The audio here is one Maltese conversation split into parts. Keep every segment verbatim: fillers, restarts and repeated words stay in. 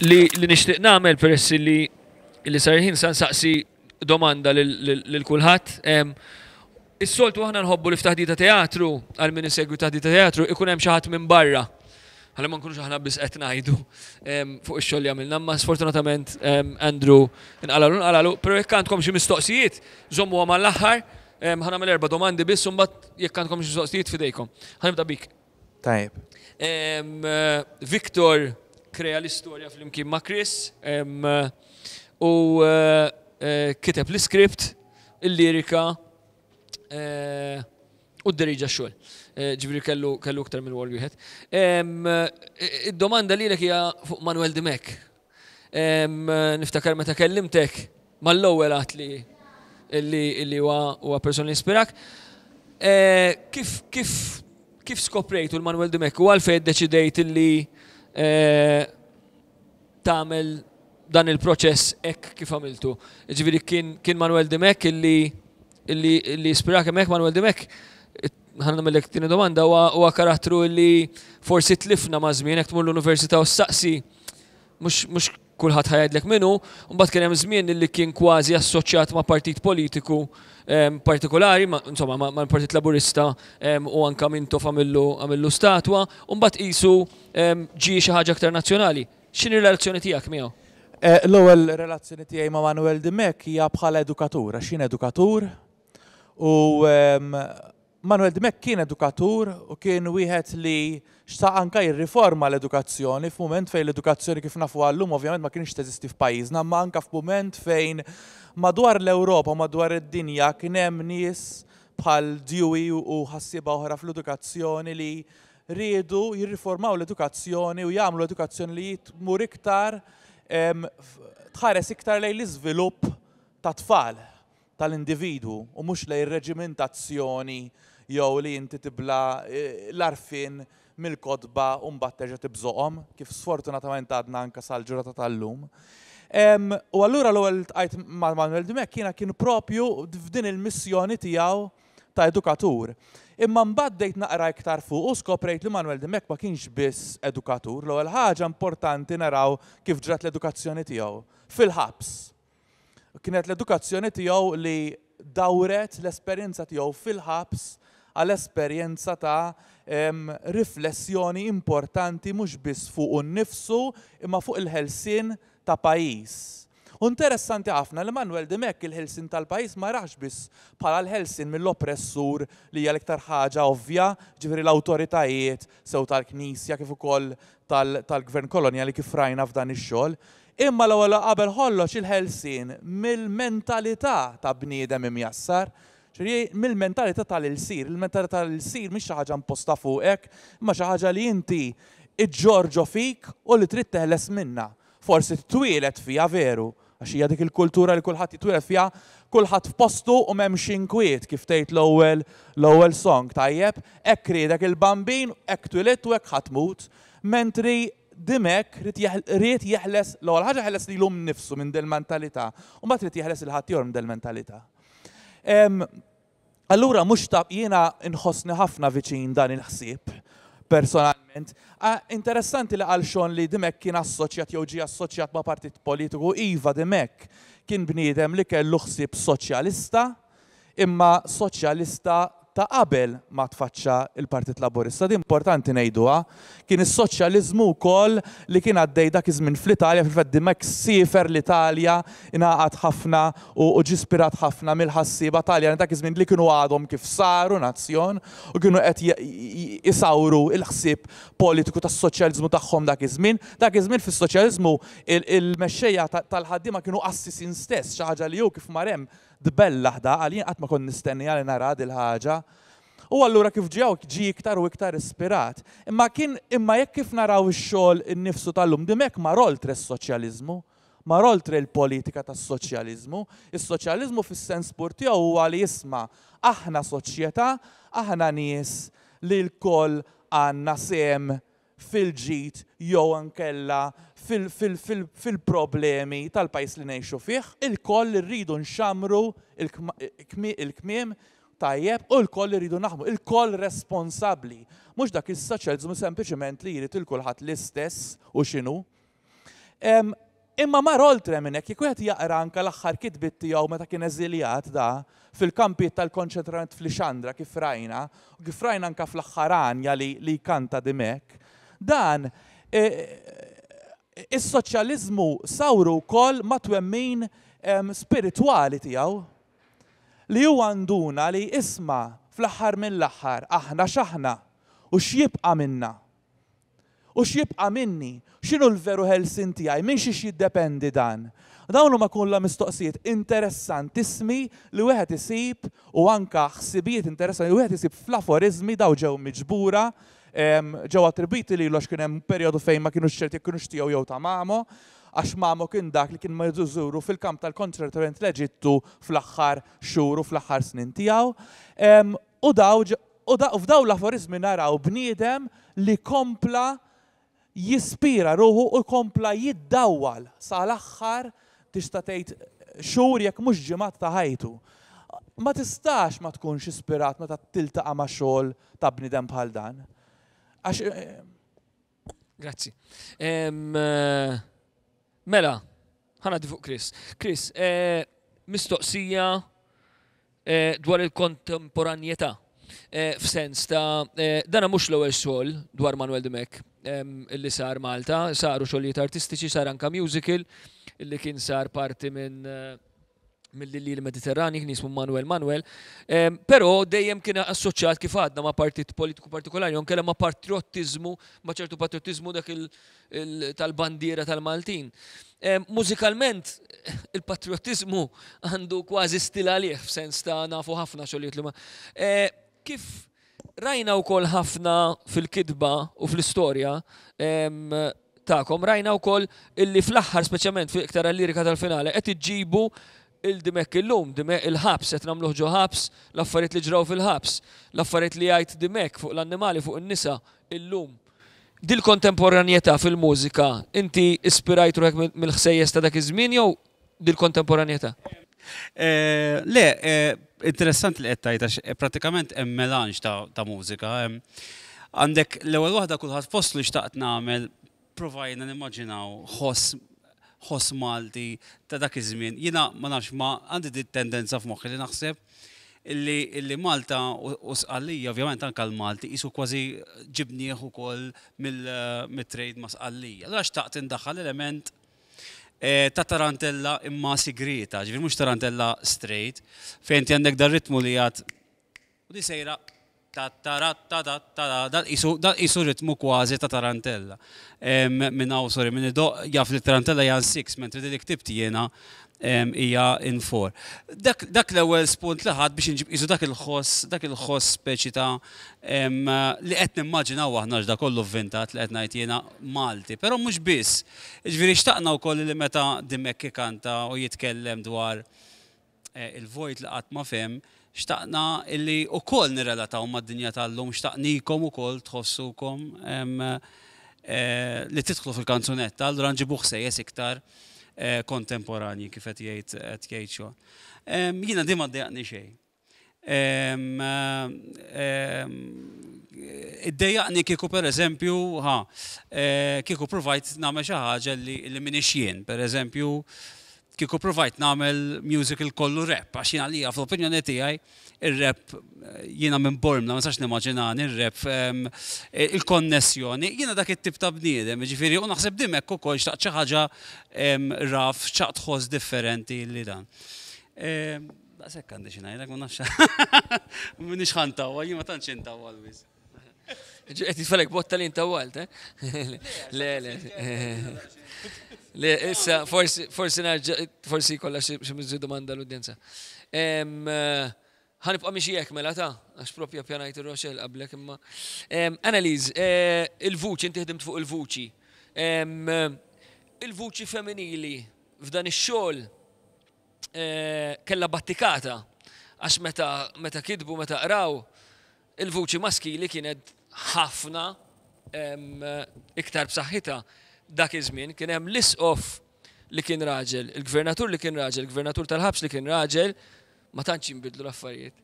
Li li nixtieq nagħmel, peress li li sar ħin, sa nsaqsi domanda lil kulħadd. Is-soltu aħna nħobbu li f'taħdita teatru, għal min isegwi taħdita teatru, ikun hemm xi ħadd minn barra. Ħalli ma nkunux aħna biss qed ngħidu fuq ix-xogħol li għamilna, ma sfortunatament Andrew inqalalu nqalalu, però jekk għandkom xi mistoqsijiet, żommuha mal-aħħar, ħa nagħmel erba' domandi biss u mbagħad jekk għandkom xi mistoqsijiet fidejkom. Ħa nibda bik. Tajjeb. Victor krea l-istorja flimkien ma' Chris u eh, eh, kiteb l-iskript, il-lirika eh, u d-deriġa xogħol. Ġifieri kellu kellu iktar minn rwol wieħed. Id-domanda lilek hija fuq Manuel Dimech. Niftakar meta kellimtek mal-ewwel għat li li huwa persona li ispirak. Kif kif kif skoprejtu l-Manuel Dimech u għalfejn deċidejt li tagħmel dan il-proċess hekk kif għamiltu? Ġifieri kien kien Manuel Dimech illi illi illi ispirak hemmhekk? Manuel Dimech, ħa nagħmellek tieni domanda, huwa karattru li forsi tlifna ma' żmien, jekk tmur l-università u ssaqsi, mhux mhux kulħadd ħa jgħidlek min hu, mbagħad kien hemm żmien li kien kważi assoċjat ma' partit politiku partikolari, insomma ma' Partit Laburista, u anka Mintoff għamillu għamillu statwa, u mbagħad qisu ġie xi ħaġa aktar nazzjonali. X'inhi relazzjoni tiegħek miegħu? L-ewwel relazzjoni tiegħi ma' Manuel Dimech hija bħala edukatur, għax jien edukatur u Manuel Dimech kien edukatur u kien wieħed li xtaq anka jirriforma l-edukazzjoni f'mument fejn l-edukazzjoni kif nafu għallum ovvjament ma kienx teżisti f'pajjiżna, ma anka f'mument fejn madwar l-Ewropa, madwar id-dinja kien hemm nies bħal Dewey u ħassieba oħra fl-edukazzjoni li riedu jirriformaw l-edukazzjoni u jagħmlu edukazzjoni li tmur iktar, tħares iktar lejn l-iżvilupp ta' tfal tal-individwu u mhux lejn reġimentazzjoni jew li inti tibla l-għarfien mill-kotba u mbagħad terġa' tibżoqhom, kif sfortunatament għadna anke sal-ġurnata tal-lum. U allura l-ewwel ltqajt ma' Manuel Dimech jiena kien propju f'din il-missjoni tiegħu ta' edukatur. Imma mbagħad bdejt naqra iktar fuq u skoprejt li Manuel Dimech ma kienx biss edukatur. L-ewwel ħaġa importanti naraw kif ġrat l-edukazzjoni tiegħu fil-ħabs. Kienet l-edukazzjoni tiegħu li dawret l-esperjenza tiegħu fil-ħabs għall-esperjenza ta' riflessjoni importanti mhux biss fuq nnifsu imma fuq il-ħelsien ta' pajjiż. U interessanti ħafna li Manuel Dimech il-ħelsien tal-pajjiż ma rax biss bħala l-ħelsien mill-oppressur, li hija l-iktar ħaġa ovvja, ġifieri l-awtoritajiet sew tal-Knisja kif ukoll tal-gvern kolonjali kif rajna f'dan ix-xogħol. Imma l-ewwel qabel kollox il-ħelsien mill-mentalità ta' bniedem imjassar, ġifieri mill-mentalità tal-ilsir. Il-mentalità tal-ilsir mhix xi ħaġa imposta fuqek, imma xi ħaġa li inti iġġorġo fik u li trid teħles minnha. Forsi twieled fiha veru, għax hija dik il-kultura li kulħadd jitwieled fiha, kulħadd f'postu u m'hemmx inkwiet, kif tgħid l-ewwel l-ewwel song, tajjeb, hekk riedek il-Bambin, hekk twilidt u hekk ħa tmut. Mentri Dimech ried jeħles, l-ewwel ħaġa ħeles lilu nnifsu minn del mentalità, u mbagħad ried jeħles il-ħaddieħor minn del mentalità. Allura mhux ta' jiena nħossni ħafna viċin dan il-ħsieb personalment. Interessanti li għal Sean li Dimech kien assoċjat jew ġie assoċjat ma' partit politiku. Iva, Dimech kien bniedem li kellu ħsieb soċjalista, imma soċjalista ta' qabel ma tfaċċa il-Partit Laburista. Din importanti ngħiduha. Kien is-soċjaliżmu wkoll li kien għaddej dak iż-żmien fl-Italja, fil-fatt Dimech siefer l-Italja, ingħaqad ħafna u ġie ispirat ħafna mill-ħassieba Taljani dak iż-żmien li kienu għadhom kif saru nazzjon u kienu qed isawru il-ħsieb politiku tas-soċjaliżmu tagħhom dak iż-żmien. Dak iż-żmien fis-soċjaliżmu il-mexxejja tal-ħaddiema kienu qassisin stess, xi ħaġa li hu kif mar hemm tbellaħ da, għal jien qatt ma kont nistenni għal nara dil-ħaġa. U allura kif ġew ġie iktar u iktar ispirat. Imma kien imma jekk kif naraw ix-xogħol innifsu tal-lum, Dimech mar oltre s-soċjaliżmu, mar oltre l-politika tas-soċjaliżmu. Is-soċjaliżmu fis-sens pur tiegħu huwa li jisma' aħna soċjetà, aħna nies li lkoll għandna sehem fil-ġid jew ankella fil-problemi tal-pajjiż li ngħixu fih, ilkoll irridu nxamru il-kmiem, tajjeb, u lkoll irridu naħdmu, ilkoll responsabbli. Mhux dak is-soċjaliżmu sempliċement li jrid il kulħadd l-istess u x'inhu. Imma mar oltre minn hekk, jekk wieħed jaqra anke l-aħħar kitbiet tiegħu meta kien eżiljat da fil-kampijiet tal-konċentrament f'Lixandra kif rajna, u kif rajna anke fl-aħħar għanja li, li kanta Dimech, dan e, is-soċjaliżmu sawru wkoll ma' twemmin spiritwali tiegħu li huwa nduna li isma' fl-aħħar mill-aħħar aħna x'aħna u x'jibqa' minna. U x'jibqa' minni? X'inhu l-veru ħelsien tiegħi? Minn xiex jiddependi dan? Dawn huma kollha mistoqsijiet interessantissimi li wieħed isib u anka ħsibijiet interessanti li wieħed isib fl-aforizmi daw ġew miġbura, ġew attribwiti lilu għax kien hemm perjodu fejn ma kinux ċerti jekk kinux tiegħu jew ta' Mamo, għax Mamo kien dak li kien jżuru fil-kamp tal-konċentrament l-Eġittu fl-aħħar xhur u fl-aħħar snin tiegħu. U daw u f'daw l-aforizmi naraw bniedem li kompla jispira ruħu u kompla jiddawwal sal-aħħar tista' tgħid xhur jekk mhux ġimgħat ta' ħajtu. Ma tistax ma tkunx ispirat meta tiltaqa' ma' xogħol ta' bniedem bħal dan. Għax Grazzi. Mela, ħa ngħaddi fuq Chris. Chris, mistoqsija dwar il-kontemporanjetà. F'sens ta' dana mhux l-ewwel xogħol dwar Manuel Dimech illi sar Malta, saru xogħlijiet artistiċi, sar anka musical illi kien sar parti minn mill-Lili Mediterrani, kien jismu Manuel Manuel, però dejjem kien assoċjat kif għadna ma' partit politiku partikolari, jew inkella ma' patriotizmu, ma' ċertu patriotizmu dak tal-bandiera tal-Maltin. Mużikalment, il-patriotizmu għandu kważi stil għalih, f'sens ta' nafu ħafna xogħlijiet li ma. Kif rajna wkoll ħafna fil-kitba u fl-istorja tagħkom, rajna wkoll illi fl-aħħar speċjalment fi iktar lirika tal-finale qed iġġibu il-Dimech illum, Dimech il-ħabs, qed nagħmluh ġo ħabs, l-affarijiet li ġraw fil-ħabs, l-affarijiet li jgħid Dimech fuq l-annimali, fuq in-nisa illum. Dil-kontemporanjetà fil-mużika, inti ispirajt ruħek mill-ħsejjes ta' dak iż-żmien jew dil-kontemporanjetà? Le, interessanti li qed tgħid għax pratikament hemm melanġ ta' mużika. Għandek l-ewwel waħda kulħadd fost li xtaqt nagħmel, provajna nimmaġinaw ħoss ħoss Malti ta' dak iż-żmien. Jiena ma nafx ma għandi dit tendenza f'moħħi li naħseb illi, illi Malta u Sqallija, ovvjament anke l-Malti, qisu kważi ġibnieh ukoll mill-trade ma' Sqallija. Allura xtaqt indaħħal element ta' tarantella imma sigrita, ġifieri mhux tarantella straight, fejn inti għandek dar ritmu li għad u di sejra ta ta ta ta ta ta dal qisu ritmu kważi ta' tarantella. Minn hawn, sorry, minn idoq jaf li tarantella hija six, mentri li ktibt jiena hija in four. Dak l-ewwel spunt li ħadd biex inġib qisu dak il-ħoss, dak il-ħoss speċi ta' li qed nimmaġinaw aħna x'da kollu vvintat li qed ngħid jiena Malti, però mhux biss. Ġifieri xtaqna wkoll li meta Dimech ikanta u jitkellem dwar il-vojt li qatt ma fehem, xtaqna illi wkoll nirrelataw mad-dinja tal-lum, xtaqnikom ukoll tħossukom li tidħlu fil-kanzunetta, allura nġibu ħsejjes iktar kontemporanji kif qed jgħid qed jgħid xogħol. Jiena di ma ddejjaqni xejn. Iddejjaqni kieku pereżempju, ha, kieku provajt nagħmel xi ħaġa li m'iniex jien, pereżempju, kieku provajt nagħmel musical kollu rap, għax jiena għalija fl-opinjoni tiegħi ir-rap jiena minn Bormla, ma nistax nimmaġinani ir-rap, il-konnessjoni, jiena dak it-tip ta' bniedem, jiġifieri u naħseb Dimech ukoll xtaqt xi ħaġa raf, xtaqt ħoss differenti li dan. Daqshekk għandi xi ngħidlek, ma nafx. M'iniex ħa ntawwal, jien ma tantx intawwal wisq. Qed jitfalek botta li intawwalt, eh? Le, le. Le, issa, forsi, forsi narġa, forsi kollha xi miżju domanda l-udjenza. Ħa nibqa' miexi hekk mela ta' għax propja pjanajt ir-Rochelle qablek imma. Annalise, il-vuċi, inti ħdimt fuq il-vuċi. Il-vuċi femminili f'dan ix-xogħol kellha battikata għax meta meta kitbu, meta qraw, il-vuċi maskili kienet ħafna iktar b'saħħitha dak iż-żmien. Kien hemm l-isqof li kien raġel, il-gvernatur li kien raġel, il-gvernatur tal-ħabs li kien raġel, ma tantx jinbidlu l-affarijiet.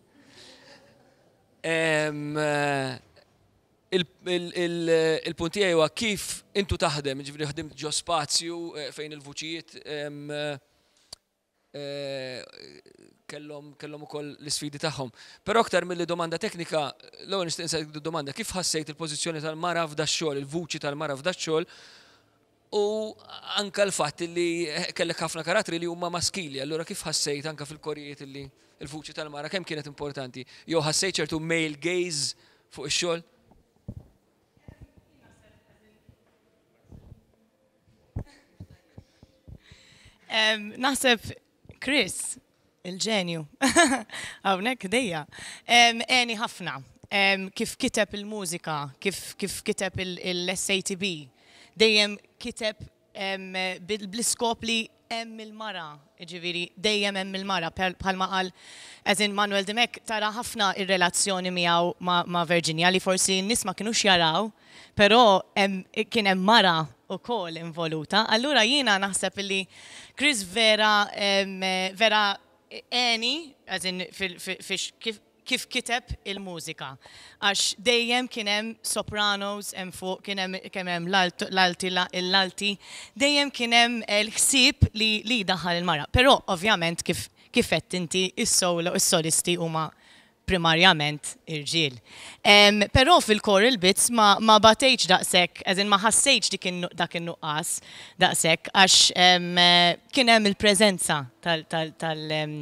Il-punt tiegħi huwa kif intu taħdem, ġifieri ħdimt ġo spazju eh, fejn il-vuċijiet em, eh, kellhom kellhom ukoll l-isfidi tagħhom. Però aktar milli domanda teknika, l-ewwel nixtieq insaqsik domanda, kif ħassejt il-pożizzjoni tal-mara f'da xogħol, il-vuċi tal-mara f'da xogħol, u anka l-fatt li kellek ħafna karattri li huma maskili, allura kif ħassejt anka fil-korijiet li il-vuċi tal-mara kemm kienet importanti? Jew ħassejt ċertu male gaze fuq ix-xogħol? Em, Naħseb Chris, il-ġenju, hawnhekk dejja, em, għeni ħafna. Em, Kif kiteb il-mużika, kif, kif kiteb il-S A T B, dejjem kiteb em, bil- bl-iskop li hemm il-mara, ġifieri dejjem hemm il-mara, bħalma qal as in Manuel Dimech, tara ħafna ir-relazzjoni miegħu ma', ma Virginia li forsi n-nies ma kinux jaraw, però hemm- kien hemm mara ukoll involuta. Allura jiena naħseb li Chris vera em, vera għeni, as in fil, fil, fix, kif, kif kiteb il-mużika. Għax dejjem kien hemm sopranos hemm fuq, kien hemm kien hemm l-alti, l-alti, dejjem kien hemm l-ħsieb li li daħal il-mara. Però ovvjament kif kif qed inti, is-solo, is-solisti huma primarjament irġiel. Um, però fil-choral bits ma, ma batejx daqshekk, as in ma ħassejtx dik in- dak in-nuqqas daqshekk, għax um, kien hemm il-preżenza tal, tal, tal, um,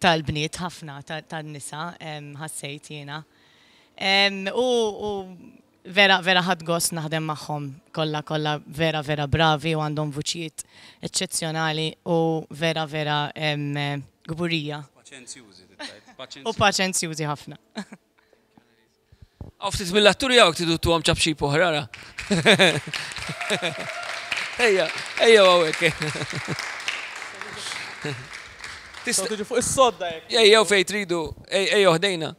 tal-bniet ħafna, tan-nisa, um, ħassejt jiena. Um, u, u vera, vera ħadt gost naħdem magħhom kollha, kollha vera, vera bravi u għandhom vuċijiet eċċezzjonali u vera, vera um, kburija. Paċenzjużi. U paċenzjużi ħafna. Għaw ftit mill-atturi għawk tidu tuħam ċapċip oħra, ara. Ejja, ejja għawek. Tistgħu tiġu fuq is-sodda jekk. Ejja fej tridu, ejja ħdejna.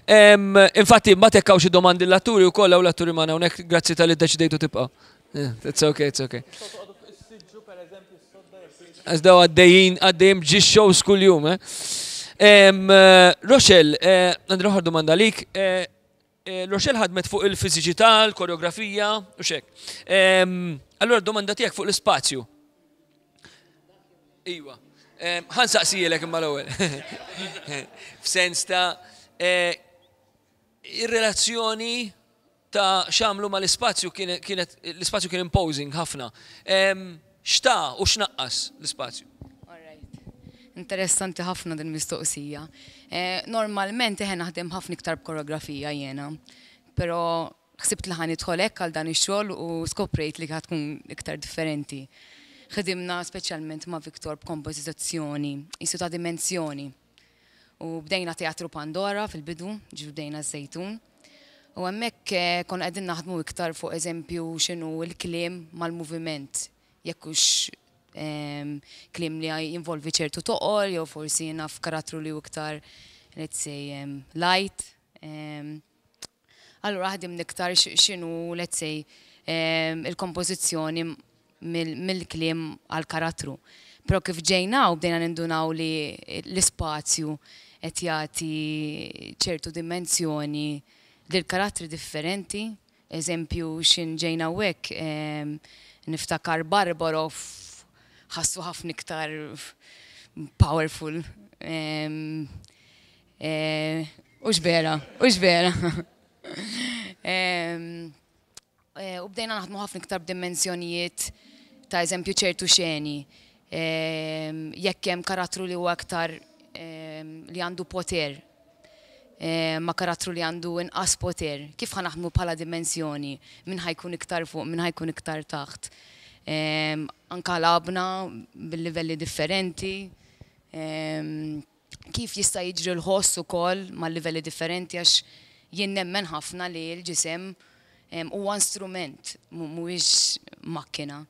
Em, Infatti, ma tekkaw xi domandi l-atturi u kollha u l-atturi magħna hawnhekk, grazzi talli ddeċidejtu tibqa'. Yeah, it's okay, it's okay. Tistgħu toqgħodu fuq is-siġġu, pereżempju, s-sodda jekk tridu. Għax daw għaddejjin, għaddejjin b'ġi shows kull-jum, eh? Em, eh, Rochelle, eh, għandi oħra domanda lik. Eh, eh, Rochelle ħadmet fuq il-fiżiċità, l-koreografija u xek. Em, Allora domanda tiegħek fuq l-ispazju. Iwa. Em, Ħa nsaqsihielek imma l-ewwel. F'sens ta' eh, ir-relazzjoni ta' x'għamlu ma l-ispazju kienet, l-ispazju kien imposing ħafna. Em, X'ta u x'naqqas l-ispazju? Alright. Interessanti ħafna din mistoqsija. Eh, normalment eħe naħdem ħafna iktar b'koreografija jiena, però ħsibt li ħa nidħol hekk għal dan ix-xogħol u skoprejt li ħa tkun iktar differenti. Ħdimna speċjalment ma' Victor b'kompożizzjoni, jisu ta' dimensjoni. U bdejna Teatru Pandora fil-bidu, ġifieri bdejna Żejtun. U hemmhekk eh, konna qegħdin naħdmu iktar fuq, eżempju, x'inhu l-kliem mal-moviment. Jekk hux em, kliem li jinvolvi ċertu toqol, jew forsi naf karattru li hu iktar, let's say, em, light. Em, Allura ħdimna iktar x- x'inhu, let's say, em, il-kompożizzjoni mill- mill-kliem għal-karattru. Però kif ġejna u bdejna nindunaw li l-ispazju qed jagħti ċertu dimensjoni lil karattri differenti. Eżempju, xin ġejna hekk, niftakar Barbaro ħassu ħafna iktar powerful. Em, eh, Ux vera, ux vera. Em, eh, U bdejna naħdmu ħafna iktar b'dimensjonijiet ta' eżempju ċertu xeni. Em, Jekk hemm karattru li huwa aktar em, li għandu poter, eh, ma karattru li għandu inqas poter, kif ħa naħdmu bħala dimensjoni, min ħa jkun iktar fuq, min ħa jkun iktar taħt. Em, Anka lgħabna bil-livelli differenti. Em, Kif jista' jiġri l-ħoss ukoll mal-livelli differenti, għax jien nemmen ħafna li l-ġisem em, huwa instrument, mu- mhuwiex makkina.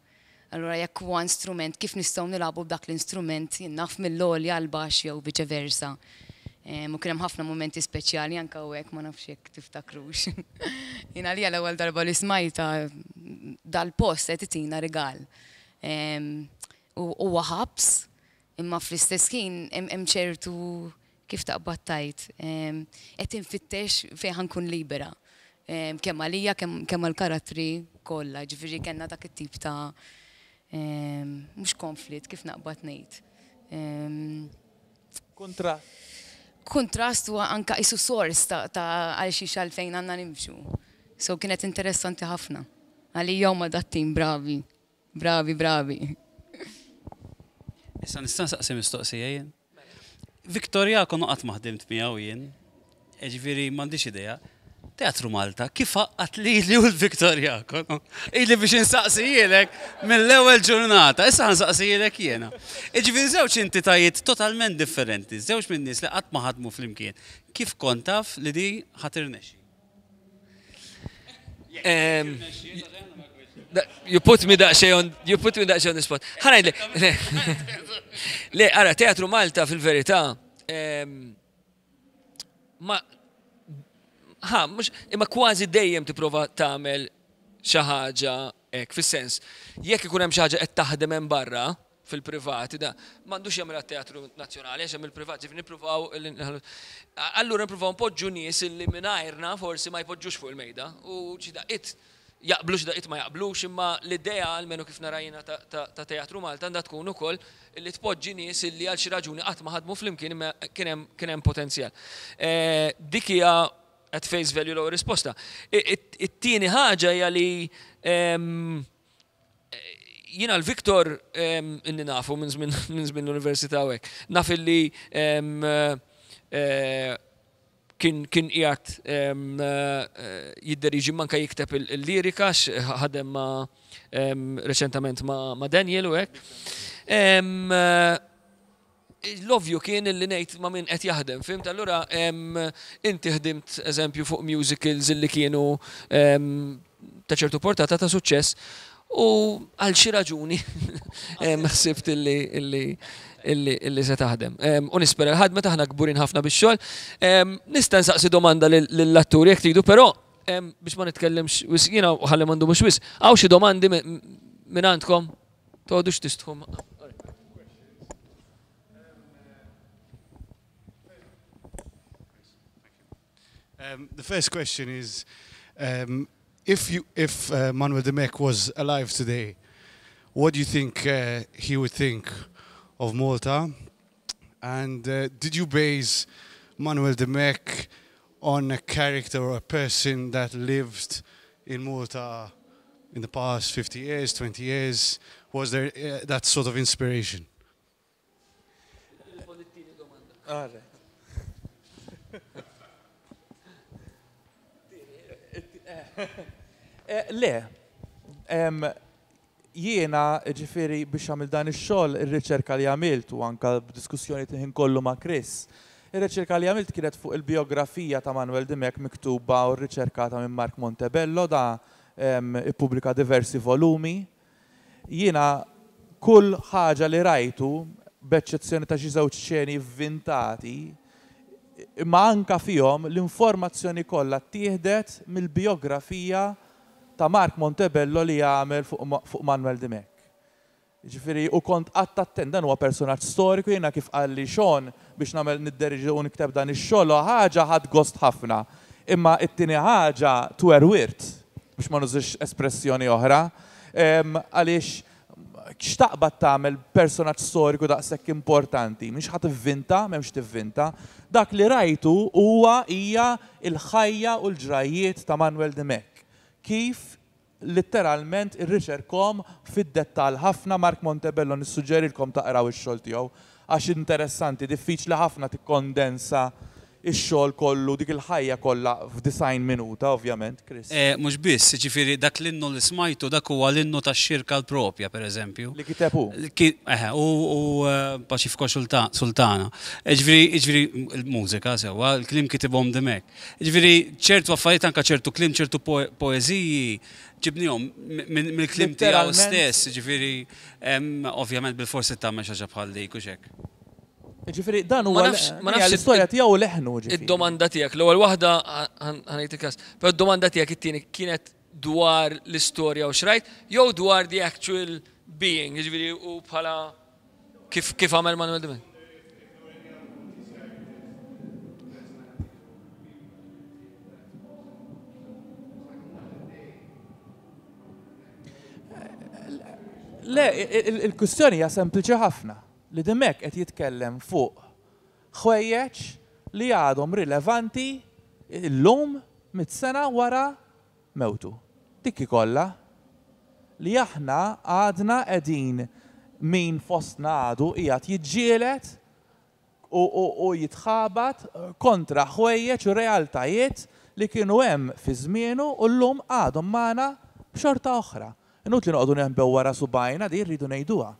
Allura jekk huwa instrument, kif nistgħu nilagħbu b'dak l-instrument, jien naf, mill-għoli għal baxx jew viċe versa. Em, U kien hemm ħafna momenti speċjali anke hawnhekk, ma nafx jekk tiftakrux. Jien għalija l-ewwel darba li smajta dal-post qed itina rigal. Em, U huwa ħabs, imma fl-istess ħin hemm hemm ċertu, kif taqbad tajt, em, qed infittex fejn ħa nkun libera. Kemm għalija, kemm għall-karattri kollha, ġifieri kellna dak it-tip ta' mhux konflitt kif naqbad ngħid. Kuntrast. Kuntrast u anka isu sors ta' għal xiex għalfejn għandna nimxu. So kienet interessanti ħafna. Għalija huma dat-tim bravi. Bravi, bravi. Issa nista' nsaqsi mistoqsija jien? Victor Jacono qatt ma ħdimt miegħu jien, ġifieri m'għandix idea. Teatru Malta, kif għaqqad lili u l-Victor Jacono? Ili biex insaqsijilek mill-ewwel ġurnata, issa nsaqsijilek jiena. Ġifieri żewġ entitajiet totalment differenti, żewġ minn nies li qatt ma ħadmu flimkien. Kif kont taf li di ħa tirnexxi? You put me daqsxejn on, you put me daqsxejn on the spot. Ħa ngħidlek. Le, ara, Teatru Malta fil-verità, ma ħa, mhux, imma kważi dejjem tipprova tagħmel xi ħaġa hekk, fis-sens, jekk ikun hemm xi ħaġa qed taħdem hemm barra fil-privat, da m'għandux jagħmel teatru nazzjonali għax hemm il-privat, ġifieri nippruvaw allura nippruvaw npoġġu nies illi mingħajrna forsi ma jpoġġux fuq il-mejda u xi daqqiet jaqblu xi daqqiet ma jaqblux, imma l-idea almenu kif nara jiena ta' Teatru Malta għandha tkun ukoll li tpoġġi nies illi għal xi raġuni qatt ma ħadmu flimkien imma kien hemm potenzjal. Dik hija at face value l-ewwel risposta. It-tieni ħaġa hija li jiena l-Victor inni nafu minn żmien l-università u hekk. Naf illi kien qiegħed jidderiġi manka jikteb il-lirika, ħadem ma' reċentament ma' Daniel u hekk. L-ovvju kien illi ngħid ma' min qed jaħdem, fimt? Allura inti ħdimt eżempju fuq musicals illi kienu ta' ċertu portata ta' suċċess u għal xi raġuni ħsibt illi illi se taħdem. U nispera l-ħadmet aħna kburin ħafna bix-xogħol. Nista' nsaqsi domanda lill-atturi jekk tridu, però biex ma nitkellimx wisq jiena u ħalli m'għandu mhux wisq. Hawn xi domandi minn għandkom? Toqgħodux tistħu. Um, the first question is, um, if you, if uh, Manuel Dimech was alive today, what do you think uh, he would think of Malta? And uh, did you base Manuel Dimech on a character or a person that lived in Malta in the past fifty years, twenty years? Was there uh, that sort of inspiration? All right. Le, jiena ġifieri biex għamil dan ix-xogħol, ir-riċerka li għamilt u anka b'diskussjoni ħin kollu ma' Chris, ir-riċerka li għamilt kienet fuq il-biografija ta' Manuel Dimech miktuba u rriċerkata minn Mark Montebello, da ippubblika diversi volumi. Jiena kull ħaġa li rajtu, b'eċċezzjoni ta' xi żewġ xeni vvintati, imma anka fihom l-informazzjoni kollha ttieħdet mill-biografija ta' Mark Montebello li għamel fuq Manuel Dimech. Ġifieri, u kont qatt attent, dan huwa personaġġ storiku, jiena kif qalli Sean biex nagħmel nidderiġi u nikteb dan ix-xogħol, ħaġa ħadd gost ħafna. Imma t-tieni ħaġa twerwirt, biex ma nużix espressjoni oħra, għaliex x'taqbad tagħmel personaġġ storiku daqshekk importanti, mhix ħadd tivvinta, m'hemmx tivvinta. Dak li rajtu huwa hija l-ħajja u l-ġrajjiet ta' Manuel Dimech. Kif letteralment irriċerkom fid-dettall ħafna. Mark Montebello nissuġġerilkom taqraw ix-xogħol tiegħu għax interessanti, diffiċli ħafna tikkondensa ix-xogħol kollu, dik il-ħajja kollha f'design minuta, ovvjament, Chris. Mhux biss, ġifieri dak l-innu li smajtu dak huwa l-innu tax-xirka l-propja, pereżempju. Li kiteb hu. Eħe, u Paċifko Sultana. Ġifieri, ġifieri l-mużika sewwa, l-kliem kitibhom Dimech. Ġifieri ċertu affarijiet anke ċertu kliem, ċertu poeżiji ġibnihom mill-kliem tiegħu stess, ġifieri ovvjament bil-forsi tagħmel xi ħaġa bħal dik u x'hekk. Ġifieri dan huwa l-istorja tiegħu leħnu ġifieri. Id-domanda tiegħek, l-ewwel waħda ħanejt il-każ, però d-domanda tiegħek it-tieni kienet dwar l-istorja u xrajt, jew dwar the actual being, ġifieri u bħala kif kif għamel Manuel Dimech. Le, il-kwistjoni hija sempliċi ħafna li Dimech qed jitkellem fuq ħwejjeġ li għadhom rilevanti illum mitt sena wara mewtu. Dik kollha li aħna għadna qegħdin min fostna għadu qiegħed jiġġieled u jitħabat kontra ħwejjeġ u realtajiet li kienu hemm fi żmienu u llum għadhom magħna b'xorta oħra. Inutli noqogħdu neħbew wara subajna di rridu ngħiduha.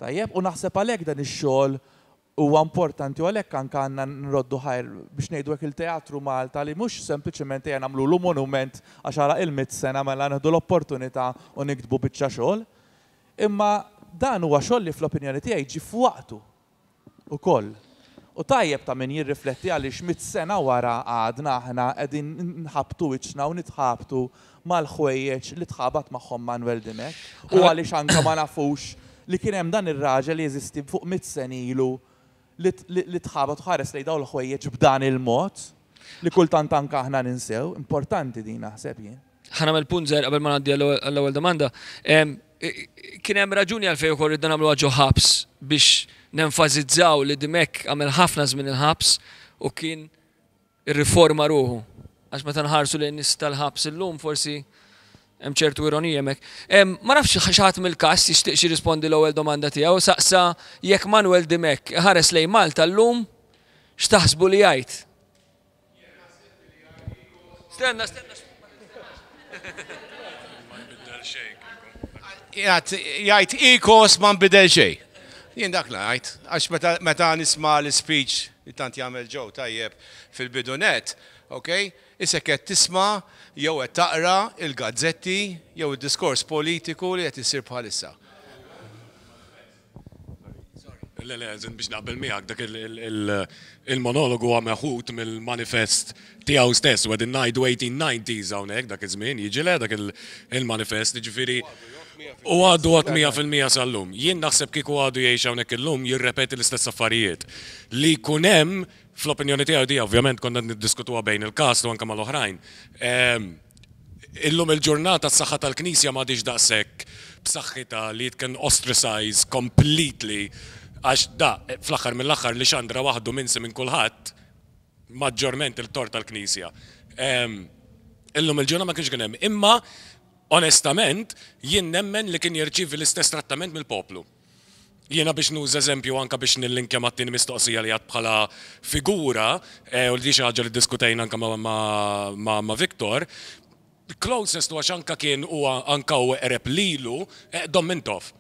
Tajjeb, u naħseb għalhekk dan ix-xogħol huwa importanti u għalhekk anke għandna nroddu ħajr biex ngħidu hekk il-Teatru Malta li mhux sempliċement ejja nagħmlu monument għax għalaq il-mitt sena mela nieħdu l-opportunità u niktbu biċċa xogħol. Imma dan huwa xogħol li fl-opinjoni tiegħi ġie f'waqtu ukoll. U tajjeb ta' min jirrifletti għaliex mitt sena wara għadna aħna qegħdin nħabtu wiċċna u nitħabtu mal-ħwejjeġ li tħabat magħhom Manuel Dimech. U għaliex anke ma nafux li kien hemm dan ir-raġel li jeżisti fuq mitt sena ilu li tħabat ħares lejn dawn il-ħwejjeġ b'dan il-mod li kultant anke aħna ninsew, importanti din naħseb jien. Ħa nagħmel punt żgħir qabel ma ngħaddi għall-ewwel domanda. Kien hemm raġuni għalfejn ukoll ridna nagħmlu ġo ħabs biex nenfasizzaw li Dimech għamel ħafna żmien il-ħabs u kien irriforma ruħu. Għax meta nħarsu lejn nies tal-ħabs illum forsi hemm ċertu ironija hemmhekk. Ma nafx xi ħadd mill-cast jixtieq jirrispondi l-ewwel domanda tiegħu, saqsa jekk Manuel Dimech ħares lejn Malta llum x'taħsbu li jgħid? Stenna, stenna. Jgħid ikos ma nbidel xejn. Jien dak ngħid, għax meta nisma' l-speech li tant jagħmel ġew tajjeb fil-bidunet, ok? Issa qed tisma' jew qed taqra il-gazzetti jew id-diskors politiku li qed isir bħalissa. Le, le, biex naqbel miegħek dak il-monologu huwa meħud mill-manifest tiegħu stess, u qegħdin ngħidu eighteen nineties hawnhekk dak iż-żmien, jiġi le dak il-manifest, jiġifieri u għadu għad mija fil-mija sal-lum. Jien naħseb kieku għadu jgħix hawnhekk illum jirrepeti l-istess affarijiet. Li jkun hemm fl-opinjoni tiegħu di ovvjament konna niddiskutuha bejn il-cast u anke mal-oħrajn. Illum il-ġurnata s-saħħa tal-Knisja m'għadix daqshekk b'saħħitha li it can ostracize completely għax da fl-aħħar mill-aħħar li xandra waħdu minsi minn kulħadd maġġorment il-tort tal-Knisja. Illum il-ġurnata ma kienx kien hemm. Imma onestament jien nemmen li kien jirċievi l-istess trattament mill-poplu. Jiena biex nuża eżempju anka biex nillinkja mat-tieni mistoqsija li għad bħala figura, u li xi ħaġa li ddiskutejna anka ma' Victor, closest għax anka kien huwa anka u qreb lilu Dom Mintoff.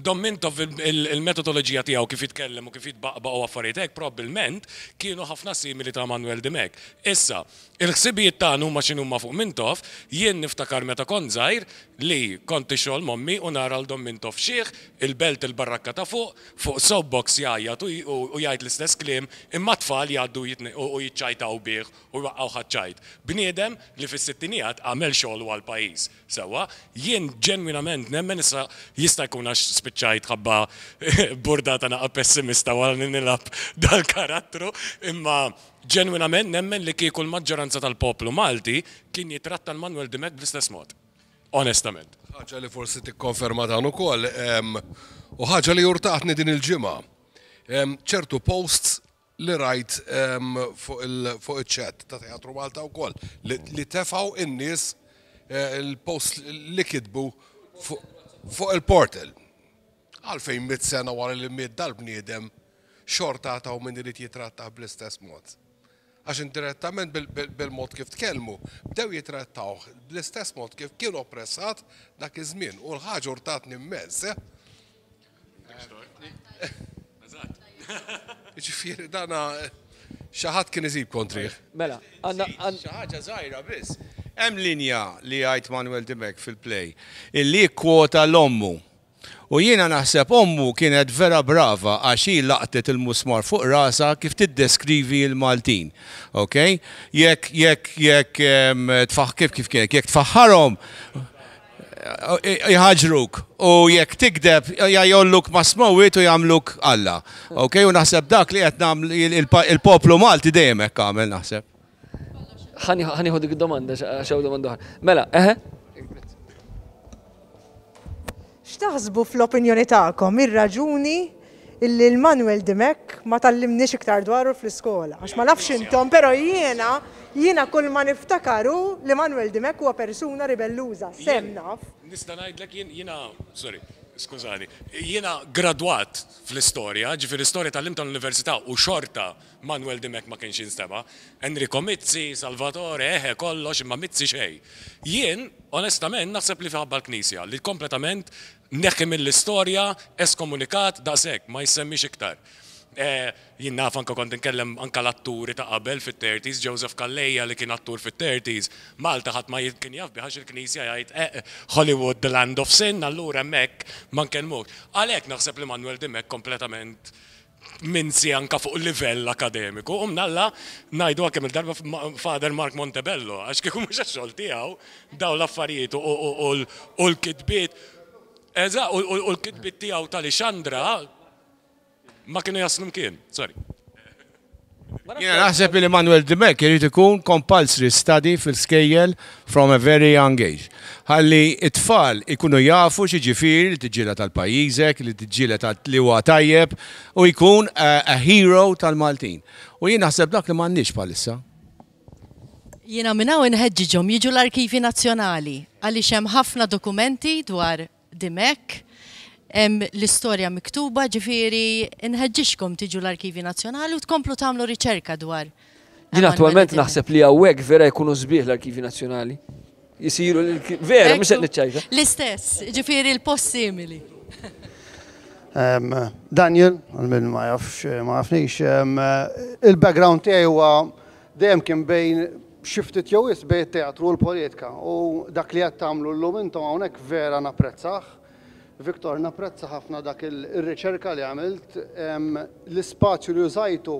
Dom Mintoff il-metodoloġija tiegħu kif jitkellem u kif jitbaqbaq u affarijiet hekk probabbilment kienu ħafna simili ta' Manuel Dimech. Issa, il-ħsibijiet tagħna huma x'inhuma fuq Mintoff, jien niftakar meta kont żgħir li kont ixogħol mommi u nara l Dom Mintoff xieħ, il-belt il-barrakka ta' fuq, fuq soapbox jgħajjat u jgħid l-istess kliem, imma tfal jgħaddu u jiċċajtaw bih u jwaqqgħu ħaċċajt. Bniedem li fis-sittinijiet għamel xogħol għal pajjiż. Sewwa, jien ġenwinament nemmen issa jista' jkun għax spiċċajt ħabba burdata naqa' pessimista wara li nilgħab dal-karattru, imma ġenwinament nemmen li kieku l-maġġoranza tal-poplu Malti kien jitratta l-Manuel Dimech bl-istess mod. Onestament. Ħaġa li forsi tikkonferma dan ukoll, u ħaġa li urtatni din il-ġimgħa. Ċertu posts li rajt fuq il-chat ta' Teatru Malta wkoll li tefgħu in-nies il-post li kitbu fuq il-portal. Għalfejn mitt sena wara li miet dal-bniedem xorta ta' min irid jitratta bl-istess mod. Għax indirettament bil-mod kif tkellmu, bdew jitrattawh bl-istess mod kif kien oppressat dak iż-żmien u l-ħaġa urtatni immens. Ġifieri dana xi ħadd kien iżib kontrih. Mela, għandna xi ħaġa żgħira biss. Hemm linja li jgħid Manuel Dimech fil-play illi kwota l-ommu. U jiena naħseb ommu kienet vera brava għax hi laqtet il-musmar fuq rasa kif tiddeskrivi l-Maltin. Ok? Jekk jekk jekk tfaħ kif kif kienet, jekk tfaħħarhom jħaġruk u jekk tikdeb jgħolluk ma' smowit u jagħmluk Alla. Ok? U naħseb dak li qed nagħmlu il-poplu Malti dejjem hekk għamel naħseb. Ħa nieħu dik id-domanda x'hawn domanda oħra. Mela, eħe? X'taħsbu fl-opinjoni tagħkom ir-raġuni illi l-Manuel Dimech ma tgħallimniex iktar dwaru fl-iskola? Għax ma nafx intom, però jiena jiena kull ma niftakar hu li Manuel Dimech huwa persuna ribelluża, sem naf. Nista' ngħidlek jien jiena, sorry, skużani, jiena gradwat fl-istorja, ġifieri istorja tgħallimt tal-università u xorta Manuel Dimech ma kienx jinstema'. Enrico Mizzi, Salvatore, eħe, kollox, imma Mizzi xejn. Jien, onestament, naħseb li minħabba l-Knisja, li kompletament neħħi mill-istorja, eskomunikat, daqshekk, ma jissemmix iktar. Eh, jien naf anka kont nkellem anka l-atturi ta' qabel fit-thirties, Joseph Calleja li kien attur fit-thirties, Malta ħadd ma kien jaf bih għax il-Knisja jgħid eh, Hollywood, the land of sin, allura hemmhekk ma nkellmuk. Għalhekk naħseb li Manuel Dimech kompletament minsi anka fuq livell akademiku. U mnalla ngħidu kemm il-darba Father Mark Montebello, għax kieku mhux għax-xogħol tiegħu daw l-affarijiet u l-kitbiet. Eżatt, u l-kitbiet tiegħu ta' Lixandra ma kienu jaslu mkien. Sorry. Jiena naħseb li Manuel Dimech irid ikun compulsory study fil-skejjel from a very young age. Ħalli it-tfal ikunu jafu x'jiġifieri li tiġġieled għal pajjiżek, li tiġġieled li huwa tajjeb u jkun a, a hero tal-Maltin. U jien naħseb dak li m'għandniex bħalissa. Jiena minn hawn inħeġġiġhom jiġu l-Arkivi Nazzjonali għaliex hemm ħafna dokumenti dwar Dimech, hemm l-istorja miktuba, ġifieri nħeġġiġkom tiġu l-Arkivi Nazzjonali u tkomplu tagħmlu riċerka dwar. Jien attualment naħseb li hawnhekk vera jkunu sbieħ l-Arkivi Nazzjonali. Jisiru vera, mhux qed niċċajta. L-istess, ġifieri l-post simili. Um, Daniel, għal min ma jafx, ma jafnix, um, il-background tiegħi huwa dejjem kien bejn xi ftit jew wisq bejn it-teatru u l-politika u dak li qed tagħmlu llum intom hawnhekk vera napprezzah. Viktor, napprezza ħafna dak il-riċerka li għamilt, l-ispazju li użajtu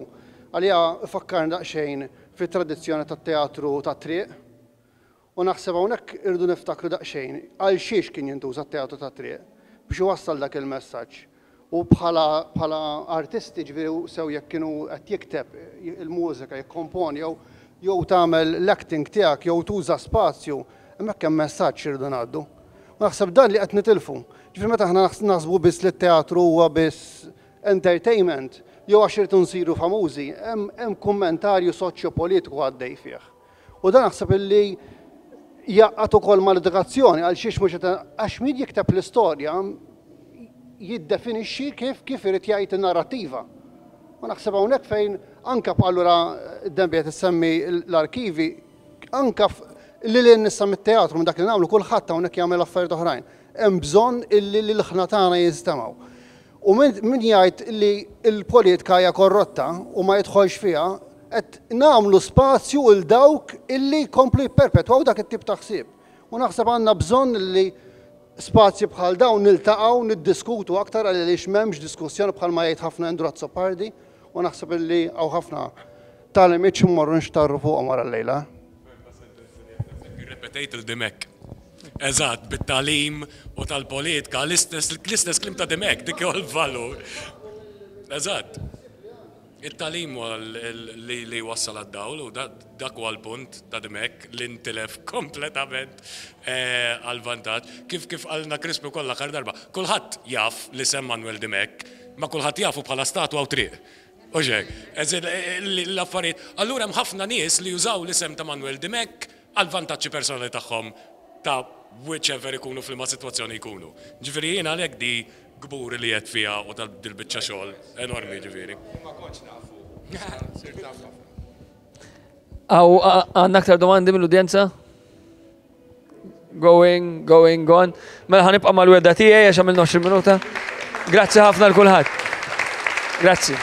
għalija fakkarni daqsxejn fit-tradizzjoni tat-teatru tat-triq. U naħseb hawnhekk irridu niftakru daqsxejn għal xiex kien jintuża t-teatru tat-triq biex iwassal dak il-messaġġ. U bħala bħala artisti, ġifieri sew jekk kienu qed jikteb il-mużika, jikkomponi jew jew tagħmel l-acting tiegħek jew tuża spazju, hemmhekk hemm messaġġ irridu ngħaddu. U naħseb dan li qed nitilfu. Ġifieri meta aħna naħsbu biss li t-teatru huwa biss entertainment, jew għax irridu nsiru famużi, hemm kummentarju soċjopolitiku għaddej fih. U dan naħseb illi jaqgħad ukoll mal-edukazzjoni għal xiex mhux għax min jikteb l-istorja jiddefinixxi kif kif irid jgħid in-narrattiva. U naħseb hawnhekk fejn anka allura Dembi qed issemmi l-arkivi, anka li l nissa mit-teatru, minn dak li nagħmlu, kulħadd hawnhekk jagħmel affarijiet oħrajn. Hemm bżonn illi l-ilħna tagħna jinstemgħu. U min jgħid li l-politika hija korrotta u ma jidħolx fiha, qed nagħmlu spazju 'l dawk illi jkomplu jipperpetwaw dak it-tip ta' ħsieb. U naħseb għandna bżonn li spazji bħal dawn niltaqgħu niddiskutu aktar, għaliex m'hemmx diskussjoni, bħalma jgħid ħafna Andrew Azzopardi, u naħseb illi hawn ħafna tagħlimiet immorru nxtarru fuqhom wara l-lejla. Repetejt il-Dimech. Eżatt, bit-tagħlim u tal-politika, l-istess l-istess kliem ta' Dimech, dik huwa l-valur. Eżatt. Il-tagħlim huwa li li wassal għad-dawl u dak huwa l-punt ta' Dimech li ntilef kompletament eh, għal-vantaġġ. Kif kif qalna Crispi wkoll l-aħħar darba, kulħadd jaf li sem Manuel Dimech, ma kulħadd jafu bħala statwa u triq. Uġek, l-affarijiet. Allura hemm ħafna nies li jużaw l-isem ta' Manuel Dimech għal vantaġġi personali tagħhom ta' whichever ikunu fil sitwazzjoni jkunu. Ġifieri jiena għalhekk di kburi li qed fiha u tal-biċċa xogħol enormi ġifieri. Ma kontx nafu. Sirt naf ħafna. Għaw, għandna aktar domandi mill-udjenza? Going, going, gone. Mela ħa nibqa' mal-wegħda tiegħi għax għamilna għoxrin minuta. Grazzi ħafna lil kulħadd. Grazzi.